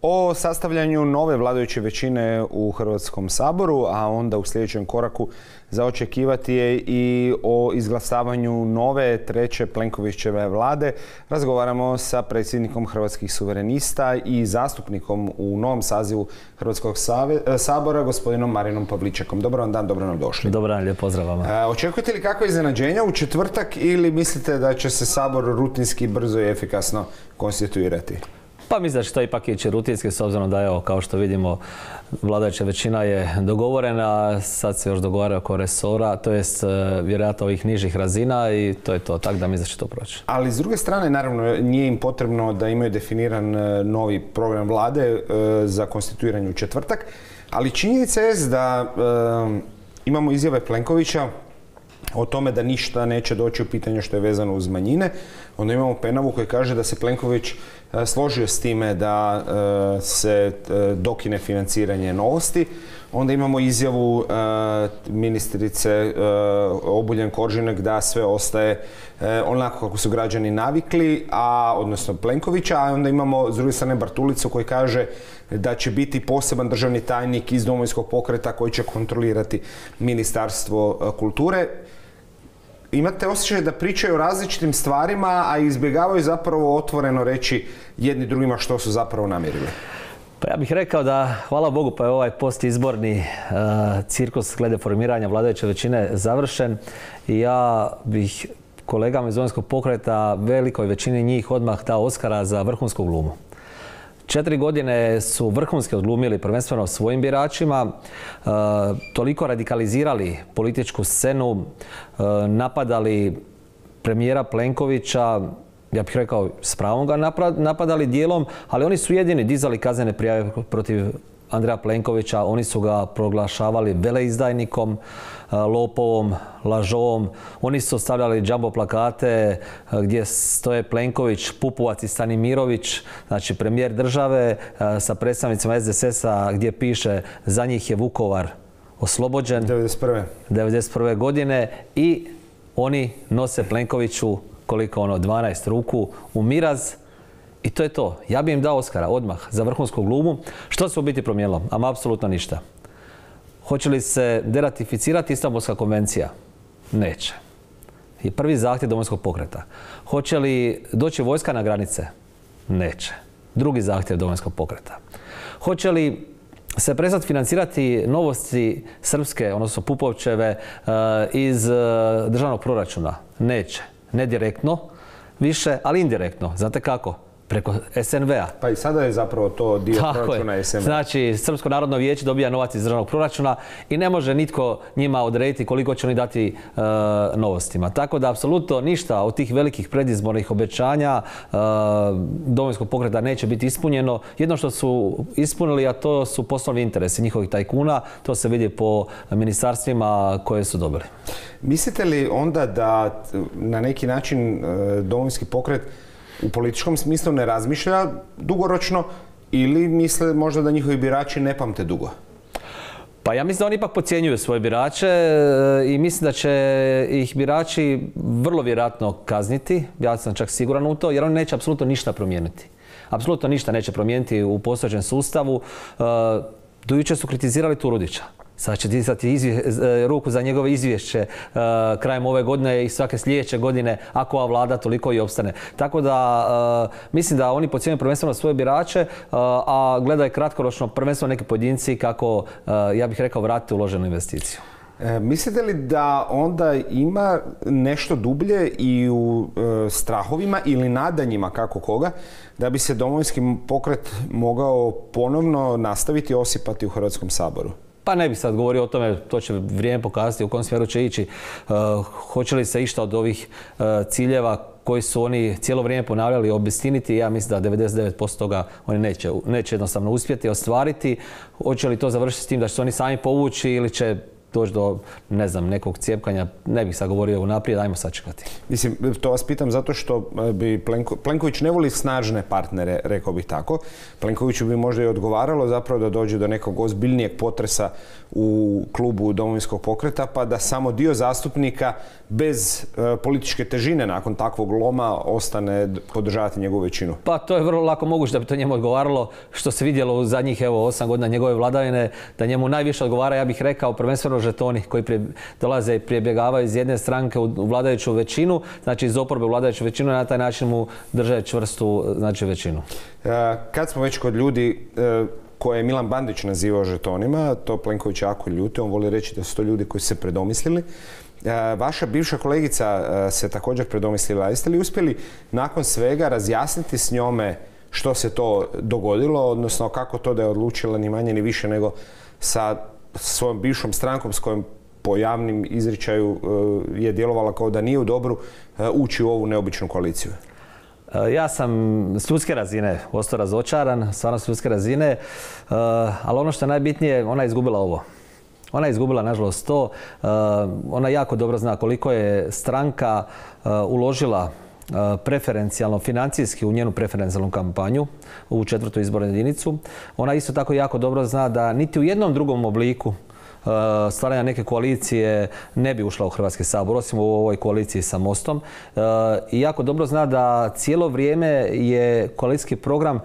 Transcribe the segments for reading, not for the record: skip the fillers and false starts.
o sastavljanju nove vladajuće većine u Hrvatskom saboru, a onda u sljedećem koraku za očekivati je i o izglasavanju nove treće Plenkovićeve vlade. Razgovaramo sa predsjednikom Hrvatskih suverenista i zastupnikom u novom sazivu Hrvatskog sabora, gospodinom Marinom Pavličekom. Dobar vam dan, dobro nam došli. Dobar dan, lijep pozdrav vama. Očekujete li kakva iznenađenja u četvrtak ili mislite da će se sabor rutinski, brzo i efikasno konstituirati? Pa mislim da će to ipak ići rutinski, s obzirom da, evo, kao što vidimo, vladajuća većina je dogovorena, sad se još dogovara oko resora, to jest vjerojatno ovih nižih razina, i to je to, tako da mislim da će to proći. Ali s druge strane, naravno, nije im potrebno da imaju definiran novi program vlade za konstituiranje u četvrtak, ali činjenica je da imamo izjave Plenkovića o tome da ništa neće doći u pitanje što je vezano uz manjine. Onda imamo Penavu koji kaže da se Plenković složio s time da se dokine financiranje Novosti. Onda imamo izjavu ministrice Obuljen-Koržinek da sve ostaje onako kako su građani navikli, odnosno Plenkovića, a onda imamo s druge strane Bartulicu koji kaže da će biti poseban državni tajnik iz Domovinskog pokreta koji će kontrolirati Ministarstvo kulture. Imate osjećaj da pričaju o različitim stvarima, a izbjegavaju zapravo otvoreno reći jedni drugima što su zapravo namjerili? Pa ja bih rekao da, hvala Bogu, pa je ovaj postizborni cirkus glede formiranja vladajuće većine završen, i ja bih kolegama iz Domovinskog pokreta, velikoj većini njih, odmah dao Oskara za vrhunsku glumu. 4 godine su vrhunski odglumili prvenstveno svojim biračima, toliko radikalizirali političku scenu, napadali premijera Plenkovića, ja bih rekao s pravom ga napadali dijelom, ali oni su jedini dizali kaznene prijave protiv Andreja Plenkovića, oni su ga proglašavali veleizdajnikom, lopovom, lažovom. Oni su stavljali džambo plakate gdje stoje Plenković, Pupovac i Stanimirović, znači premijer države, sa predstavnicima SDSS-a gdje piše za njih je Vukovar oslobođen 1991. godine, i oni nose Plenkoviću 12 ruku u miraz. I to je to. Ja bi im dao Oskara odmah za vrhunsku glumu. Što se u biti promijenilo? Ama apsolutno ništa. Hoće li se deratificirati Istanbulska konvencija? Neće. I prvi zahtjev Domovinskog pokreta. Hoće li doći vojska na granice? Neće. Drugi zahtjev Domovinskog pokreta. Hoće li se prestati financirati Novosti srpske, odnosno Pupovčeve, iz državnog proračuna? Neće. Ne direktno više, ali indirektno. Znate kako? Preko SNV-a. Pa i sada je zapravo to dio proračuna SNV-a. Znači, Srpsko narodno vijeće dobija novac iz državnog proračuna i ne može nitko njima odrediti koliko će oni dati Novostima. Tako da, apsolutno ništa od tih velikih predizbornih obećanja Domovinskog pokreta neće biti ispunjeno. Jedno što su ispunili, a to su poslovni interesi njihovih tajkuna, to se vidi po ministarstvima koje su dobili. Mislite li onda da na neki način Domovinski pokret u političkom smislu ne razmišlja dugoročno, ili misle možda da njihovi birači ne pamte dugo? Pa ja mislim da oni ipak podcjenjuju svoje birače i mislim da će ih birači vrlo vjerojatno kazniti. Ja sam čak siguran u to, jer oni neće apsolutno ništa promijeniti. Apsolutno ništa neće promijeniti u postojećem sustavu. Do jučer su kritizirali Turudića. Sad će dizati ruku za njegove izvješće krajem ove godine i svake sljedeće godine, ako ova vlada toliko i opstane. Tako da mislim da oni podcjenjuju prvenstveno svoje birače, a gledaju kratkoročno prvenstveno neki pojedinci kako, ja bih rekao, vratiti uloženu investiciju. Mislite li da onda ima nešto dublje i u strahovima ili nadanjima, kako koga, da bi se Domovinski pokret mogao ponovno nastaviti osipati u Hrvatskom saboru? Pa ne bih sad govorio o tome, to će vrijeme pokazati u kom smjeru će ići. Hoće li se išta od ovih ciljeva koji su oni cijelo vrijeme ponavljali obistiniti? Ja mislim da 99% toga oni neće jednostavno uspjeti ostvariti. Hoće li to završiti s tim da će se oni sami povući ili će doći do, ne znam, nekog cijepkanja, ne bih sad govorio unaprijed, ajmo sačekati. Mislim, to vas pitam zato što bi Plenković ne voli snažne partnere, rekao bih tako. Plenkoviću bi možda i odgovaralo zapravo da dođe do nekog ozbiljnijeg potresa u klubu Domovinskog pokreta, pa da samo dio zastupnika bez političke težine nakon takvog loma ostane podržavati njegovu većinu. Pa to je vrlo lako moguće da bi to njemu odgovaralo, što se vidjelo u zadnjih 8 godina njegove vladavine, da njemu najviše odgovara, ja bih rekao, prvenstveno žetoni koji dolaze i prebjegavaju iz jedne stranke u vladajuću većinu, znači iz oporbe u vladajuću većinu, i na taj način mu drže čvrstu, znači, većinu. Kad smo već kod ljudi koje je Milan Bandić nazivao žetonima, to Plenković jako ljuti, on voli reći da su to ljudi koji su se predomislili. Vaša bivša kolegica se također predomislila. Jeste li uspjeli nakon svega razjasniti s njome što se to dogodilo, odnosno kako to da je odlučila ni manje ni više nego sa svojom bivšom strankom s kojom po javnim izričaju je djelovala kao da nije u dobru ući u ovu neobičnu koaliciju? Ja sam s ljudske razine ostao razočaran, stvarno s ljudske razine, ali ono što je najbitnije, ona je izgubila ovo. Ona je izgubila, nažalost, to. Ona jako dobro zna koliko je stranka uložila preferencijalno, financijski u njenu preferencijalnu kampanju u 4. izbornu jedinicu. Ona isto tako jako dobro zna da niti u jednom drugom obliku stvaranja neke koalicije ne bi ušla u Hrvatski sabor, osim u ovoj koaliciji sa Mostom. I jako dobro zna da cijelo vrijeme je koalicijski program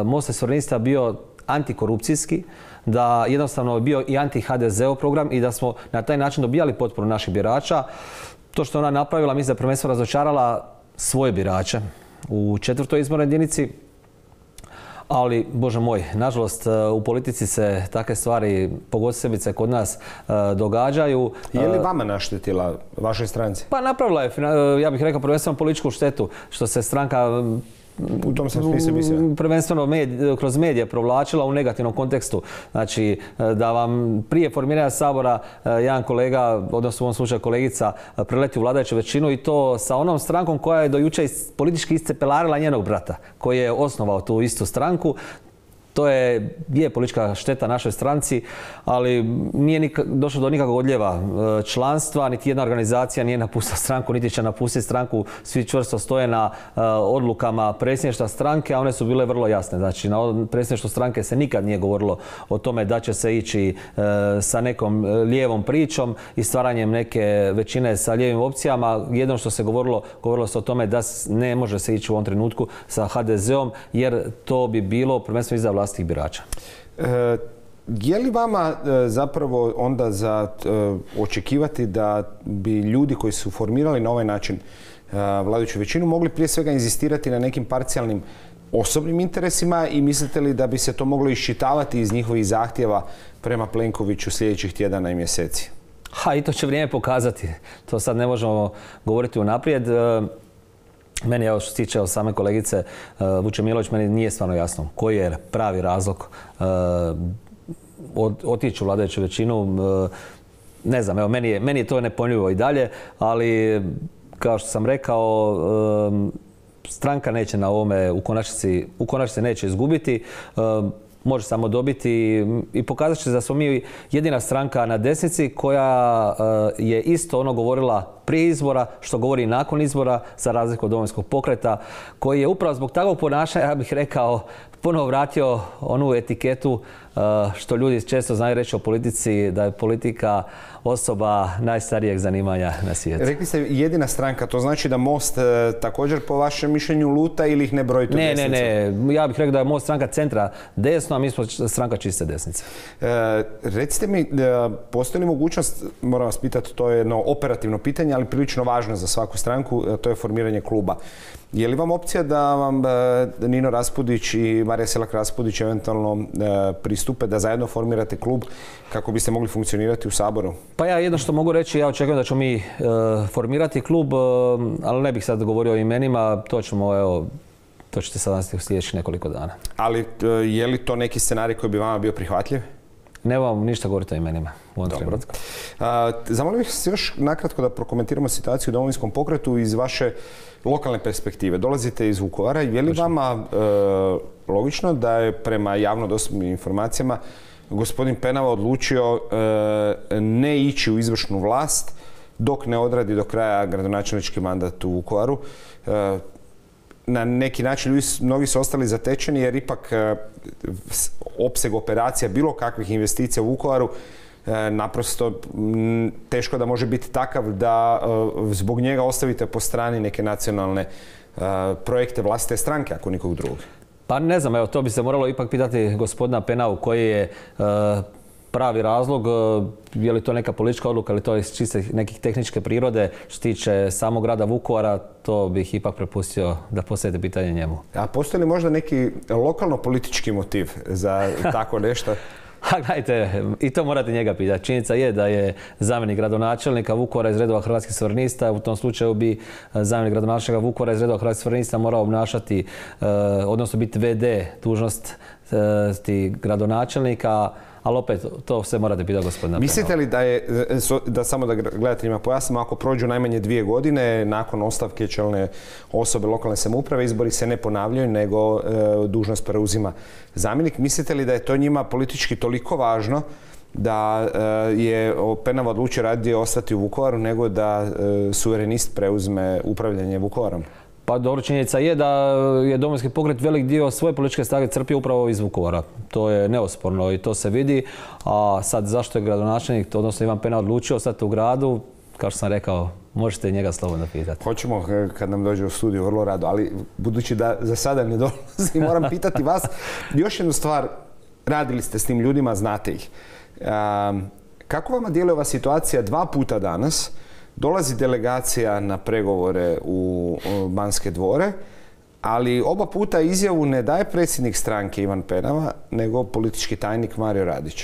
Mosta i Suverenista bio antikorupcijski, da jednostavno je bio i anti-HDZ-ov program i da smo na taj način dobijali potporu naših birača. To što ona napravila, mislim da je prvenstveno razočarala svoje birače u 4. izbornoj jedinici. Ali, Bože moj, nažalost, u politici se takve stvari, pogosebice kod nas, događaju. Je li vama naštetila, vašoj stranci? Pa napravila je, ja bih rekao, prvenstveno političku štetu, što se stranka u tom sam smislu mislio. Prvenstveno kroz medije provlačila u negativnom kontekstu. Znači, da vam prije formiranja Sabora jedan kolega, odnosno u ovom slučaju kolegica, preleti u vladajuću većinu i to sa onom strankom koja je do jučer politički iscepelarila njenog brata, koji je osnovao tu istu stranku. To je politička šteta našoj stranci, ali nije došlo do nikakvog odljeva članstva, niti jedna organizacija nije napustila stranku, niti će napustiti stranku. Svi čvrsto stoje na odlukama predsjedništva stranke, a one su bile vrlo jasne. Znači, na predsjedništvu stranke se nikad nije govorilo o tome da će se ići sa nekom lijevom pričom i stvaranjem neke većine sa lijevim opcijama. Jedno što se govorilo se o tome da ne može se ići u ovom trenutku sa HDZ-om, jer to bi bilo prvenstveno iza vlastitih birača. Je li vama zapravo onda za očekivati da bi ljudi koji su formirali na ovaj način vladajuću većinu mogli prije svega inzistirati na nekim parcijalnim osobnim interesima i mislite li da bi se to moglo iščitavati iz njihovih zahtjeva prema Plenkoviću sljedećih tjedana i mjeseci? I to će vrijeme pokazati. To sad ne možemo govoriti unaprijed. Meni, evo što se tiče same kolegice Vučemilović, meni nije stvarno jasno koji je pravi razlog otići u vladajuću većinu. Ne znam, evo, meni je to nepojmljivo i dalje, ali kao što sam rekao, stranka neće na ovome u konačnici neće izgubiti. Može samo dobiti i pokazat će da smo mi jedina stranka na desnici koja je isto ono govorila prije izbora, što govori i nakon izbora, za razliku od Domovinskog pokreta, koji je upravo zbog takvog ponašanja, ja bih rekao, ponovo vratio onu etiketu što ljudi često znaju reći o politici, da je politika osoba najstarijeg zanimanja na svijetu. Rekli ste jedina stranka, to znači da Most također po vašem mišljenju luta ili ih ne brojite u desnicu? Ne. Ja bih rekao da je Most stranka centra desno, a mi smo stranka čiste desnice. Recite mi, postoji li mogućnost, moram vas pitati, to je jedno operativno pitanje, ali prilično važno za svaku stranku, to je formiranje kluba. Je li vam opcija da vam Nino Raspudić i Marija Selak Raspudić eventualno pristupe da zajedno formirate klub kako biste mogli funkcionirati u Saboru? Pa ja jedno što mogu reći, ja očekujem da ćemo mi formirati klub, ali ne bih sad govorio o imenima, to ćete sad nastaviti u sljedećih nekoliko dana. Ali je li to neki scenarij koji bi vama bio prihvatljiv? Nemam ništa govoriti o imenima u ovom trenutku. Zamolio bih se još nakratko da prokomentiramo situaciju u Domovinskom pokretu iz vaše lokalne perspektive. Dolazite iz Vukovara i je li vama logično da je prema javno dostupnim informacijama gospodin Penava odlučio ne ići u izvršnu vlast dok ne odradi do kraja gradonačelnički mandat u Vukovaru? Na neki način mnogi su ostali zatečeni jer ipak opseg operacija bilo kakvih investicija u Vukovaru naprosto teško da može biti takav da zbog njega ostavite po strani neke nacionalne projekte vlastite stranke, ako nikog drugog. Pa ne znam, evo to bi se moralo ipak pitati gospodina Penavu koji je pravi razlog, je li to neka politička odluka ili to je čiste nekih tehničke prirode. Što se tiče samog grada Vukovara, to bih ipak prepustio da postavite pitanje njemu. A postoji li možda neki lokalno-politički motiv za tako nešto? A gledajte, i to morate njega pitati. Činjenica je da je zamjenik gradonačelnika Vukovara iz redova Hrvatskih suverenista. U tom slučaju bi zamjenik gradonačelnika Vukovara iz redova Hrvatskih suverenista morao obnašati, odnosno biti VD dužnosti gradonačelnika, ali opet to sve morate pitati gospodina Penava. Mislite li da samo da gledateljima pojasnimo, ako prođu najmanje 2 godine nakon ostavke čelne osobe lokalne samouprave, izbori se ne ponavljaju, nego dužnost preuzima zamjenik. Mislite li da je to njima politički toliko važno da je Penava odlučio radije ostati u Vukovaru nego da suverenist preuzme upravljanje Vukovarom? Pa dobro, činjenica je da je Domovinski pokret velik dio svoje političke snage crpio upravo iz Vukovara. To je neosporno i to se vidi. A sad zašto je gradonačelnik, odnosno Ivan Penava odlučio ostati u gradu, kao što sam rekao, možete njega slobodno pitati. Hoćemo kad nam dođe u studiju vrlo rado, ali budući da za sada ne dolazi, moram pitati vas još jednu stvar. Radili ste s tim ljudima, znate ih. Kako vama djeluje ova situacija 2 puta danas? Dolazi delegacija na pregovore u Banske dvore, ali oba puta izjavu ne daje predsjednik stranke Ivan Penava, nego politički tajnik Mario Radić.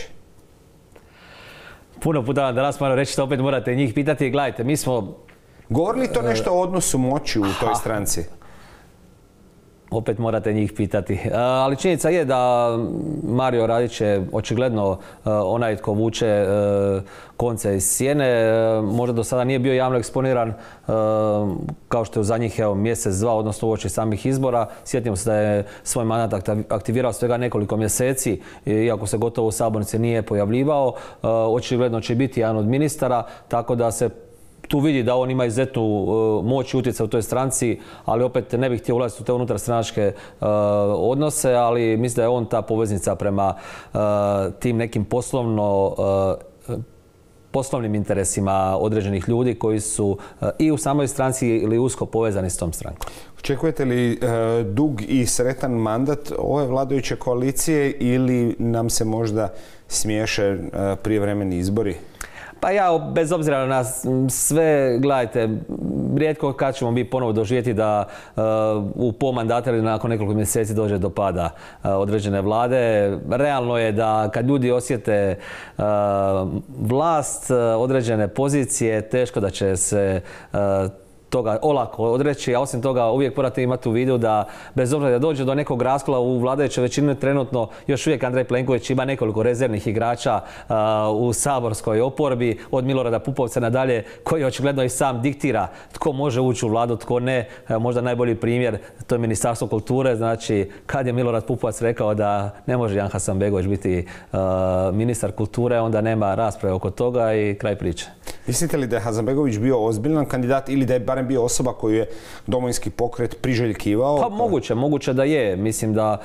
Puno puta vam danas moram reći, što opet morate njih pitati. Gledajte, mi smo... Govori li to nešto o odnosu moći u toj stranci? Opet morate njih pitati. Ali činjenica je da Mario Radić je očigledno onaj tko vuče konce iz sjene. Možda do sada nije bio javno eksponiran kao što je u zadnjih mjesec, 2, odnosno uoči samih izbora. Sjetimo se da je svoj mandat aktivirao svega nekoliko mjeseci, iako se gotovo u sabornici nije pojavljivao. Očigledno će biti jedan od ministara, tako da se tu vidi da on ima izuzetnu moć i utjecaj u toj stranci, ali opet ne bih htio ulaziti u te unutarstranačke odnose, ali mislim da je on ta poveznica prema tim nekim poslovnim interesima određenih ljudi koji su i u samoj stranci ili usko povezani s tom strankom. Očekujete li dug i sretan mandat ove vladajuće koalicije ili nam se možda smiješe prijevremeni izbori? Pa ja, bez obzira na sve, gledajte, rijetko kad ćemo mi ponovo doživjeti da u pol mandata ili nakon nekoliko mjeseci dođe do pada određene vlade. Realno je da kad ljudi osjete vlast, određene pozicije, teško da će se toga olako odreći, a osim toga uvijek morate imati u vidu da bez obzira da dođe do nekog raskola u vladajućoj većini, trenutno još uvijek Andrej Plenković ima nekoliko rezervnih igrača u saborskoj oporbi, od Milorada Pupovca nadalje, koji očigledno i sam diktira tko može ući u vladu, tko ne. Možda najbolji primjer, to je Ministarstvo kulture. Znači, kad je Milorad Pupovac rekao da ne može Jan Hasanbegović biti ministar kulture, onda nema rasprave oko toga i kraj priče. Mislite li da je Hasanbegović bio ozbiljan kandidat ili da je barem bio osoba koju je Domovinski pokret priželjkivao? Pa moguće da je. Mislim da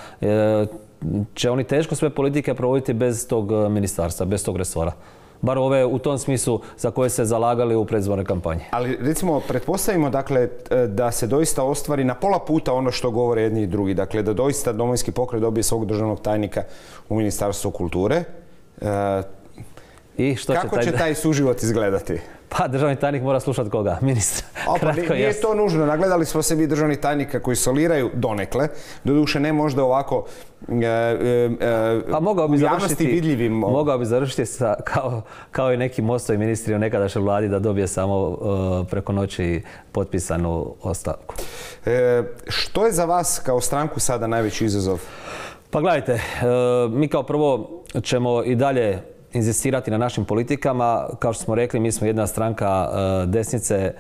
će oni teško sve politike provoditi bez tog ministarstva, bez tog resora. Bar ove u tom smislu za koje se zalagali u predizbornoj kampanji. Ali recimo, pretpostavimo dakle da se doista ostvari na pola puta ono što govore jedni i drugi. Dakle, da doista Domovinski pokret dobije svog državnog tajnika u Ministarstvu kulture. I što kako će taj suživot izgledati? Pa državni tajnik mora slušati koga? Ministra. Nije to nužno. Nagledali smo se mi državnih tajnika koji soliraju donekle. Doduše ne možda ovako u javnosti vidljivim. Mogao bi završiti kao i neki MOST-ovi ministri u nekadašnjoj vladi da dobije samo preko noći potpisanu ostavku. Što je za vas kao stranku sada najveći izazov? Pa gledajte, mi kao prvo ćemo i dalje inzistirati na našim politikama. Kao što smo rekli, mi smo jedna stranka desnice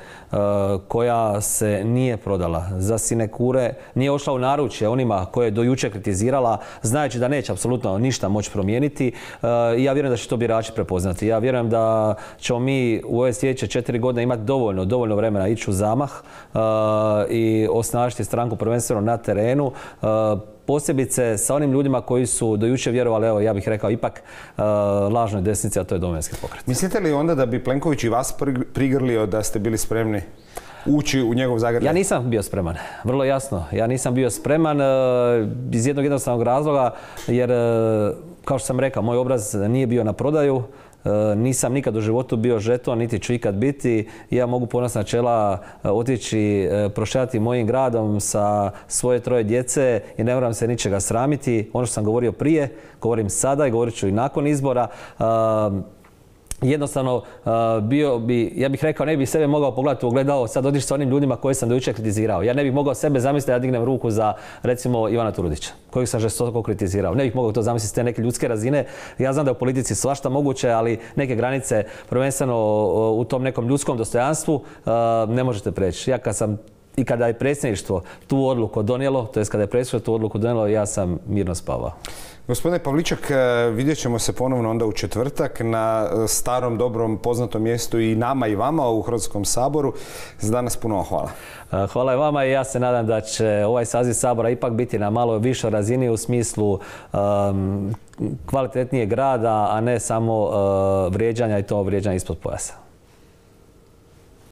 koja se nije prodala za sinekure, nije ošla u naručje onima koje je do jučer kritizirala, znajući da neće apsolutno ništa moći promijeniti. I ja vjerujem da će to birači prepoznati. Ja vjerujem da ćemo mi u ove sljedeće 4 godine imati dovoljno vremena ići u zamah i osnažiti stranku prvenstveno na terenu. Posebice sa onim ljudima koji su do jučer vjerovali, evo ja bih rekao, ipak lažnoj desnici, a to je Domovinski pokret. Mislite li onda da bi Plenković i vas prigrlio da ste bili spremni ući u njegov zagrljaj? Ja nisam bio spreman, vrlo jasno. Ja nisam bio spreman iz jednog jednostavnog razloga, jer kao što sam rekao, moj obraz nije bio na prodaju. Nisam nikad u životu bio žeton, niti ću ikad biti. Ja mogu ponosna čela otići prošetati mojim gradom sa svoje 3 djece i ne moram se ničega sramiti. Ono što sam govorio prije, govorim sada i govorit ću i nakon izbora. Jednostavno, ja bih rekao, ne bih sebe mogao pogledati u ogledalo, sad otići sa onim ljudima koje sam do jučer kritizirao. Ja ne bih mogao sebe zamisliti da ja dignem ruku za, recimo, Ivana Turudića, kojeg sam žestoko kritizirao. Ne bih mogao to zamisliti s te neke ljudske razine. Ja znam da je u politici svašta moguće, ali neke granice, prvenstveno u tom nekom ljudskom dostojanstvu, ne možete preći. Ja i kada je predsjedništvo tu odluku donijelo, to jest kada je predsjedništvo tu odluku donijelo, ja sam mirno spavao. Gospodine Pavliček, vidjet ćemo se ponovno onda u četvrtak na starom, dobrom, poznatom mjestu i nama i vama u Hrvatskom saboru. Za danas puno vam hvala. Hvala i vama i ja se nadam da će ovaj saziv Sabora ipak biti na malo višoj razini u smislu kvalitetnijeg rada, a ne samo vrijeđanja i to vrijeđanja ispod pojasa.